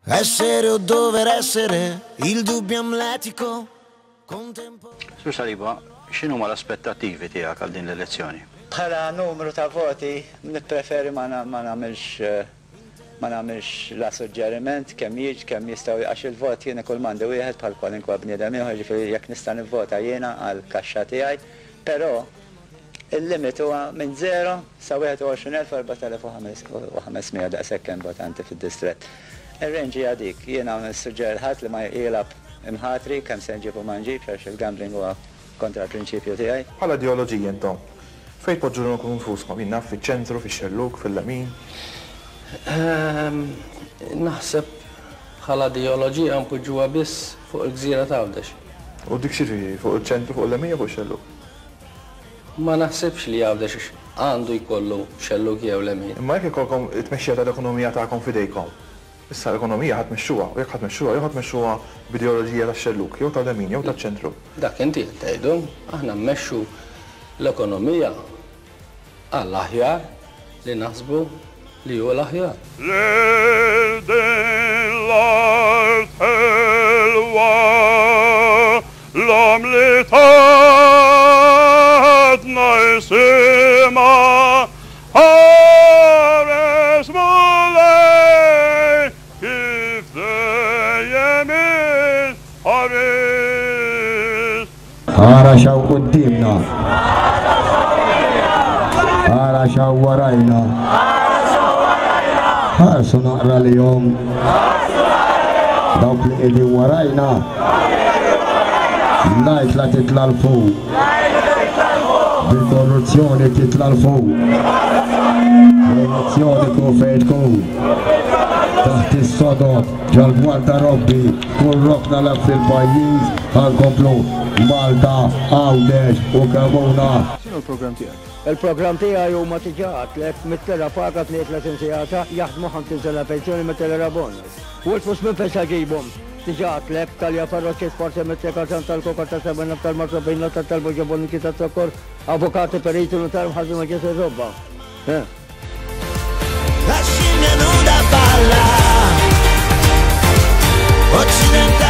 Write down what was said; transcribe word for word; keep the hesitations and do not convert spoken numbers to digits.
Essere o dover essere, il dubbio amletico. Contempo. Sur Saliba, x'inhuma l-aspettattivi tiegħek għal din l-elezzjoni? Bħala numru ta' voti, nippreferi ma nagħmilx ma nagħmilx la suġġeriment kemm jiġ, kemm jistgħu, għax il-vot jiena kull m'għandi wieħed bħal kwalinkwa bniedem ieħor, ġifieri jekk nista' nivvota jiena għal kaxxa tiegħi, però il-limit huwa minn zero sa wieħed u għoxrin elf u erbat elef u ħames mija, daqshekk hemm votanti fid-distrett. Ir-range hija dik, jiena nissuġġeri ħadd li ma jilgħab imħatri kemm se nġibu ma nġibx, għax il-gambling huwa kontra l-prinċipju tiegħi. Bħala ideoloġija intom, fejn tpoġġu lilkom infuskom? Jien naf, fiċ-ċentru, fix-xellug, fil-lemin? Ehm, naħseb bħala ideoloġija npoġġuha biss fuq il-gżira ta' Għawdex. U dik xi fuq il-ċentru, fuq il-lemin jew fuq ix-xellug? Ma naħsibx li Għawdex għandu jkollu xellug jew lemin. Imma jekk ikolkom it-tmexxija tal-ekonomija tagħkom f'idejkom, issa l-ekonomija ħa tmexxuha, u jekk ħa tmexxuha, jew ħa tmexxuha b'ideoloġija tax-xellug, jew tal-lemin, jew taċ-ċentru. Dak inti qed tgħidu, aħna mmexxu l-ekonomija għall-aħjar li naħsbu li hu l-aħjar. Lil din l-art ħelwa, l-omm li tatna isimha, ħares Mulej kif dejjem il-ħares. Ara x'hawn quddiemna. Ara x'hawn warajna. Ħarsu naqra li jom. Dawk li qegħdin warajna. Ngħid la titla' 'l fuq. Bil-korruzzjoni titla' 'l fuq. Korruzzjoni kun fejn tkun. Taħt is-sodod, ġol-gwardarobbi, kull rokna la fil-pajjiż, ħa nkomplu Malta, Għawdex u Kemmuna. X'inhu l-programm tiegħek? Il-programm tiegħi huma diġà għedtlek, mitt lira paga, tnejn u tletin sigħata, jaħdmu ħamsin sena pensjoni, mitt lira bonus. U l-flus minn fejn se ġibhom? Diġà għedtlek, Talja Ferroċi, Sporti, Mittika, tal-Koka, ta' Seven, tal-Marsabina, tal-Boġoboniki, tal-Sokkor, avukati, periti, notar, mħazzi, maġġes, robba. La scimmia nuda balla. Occidentale.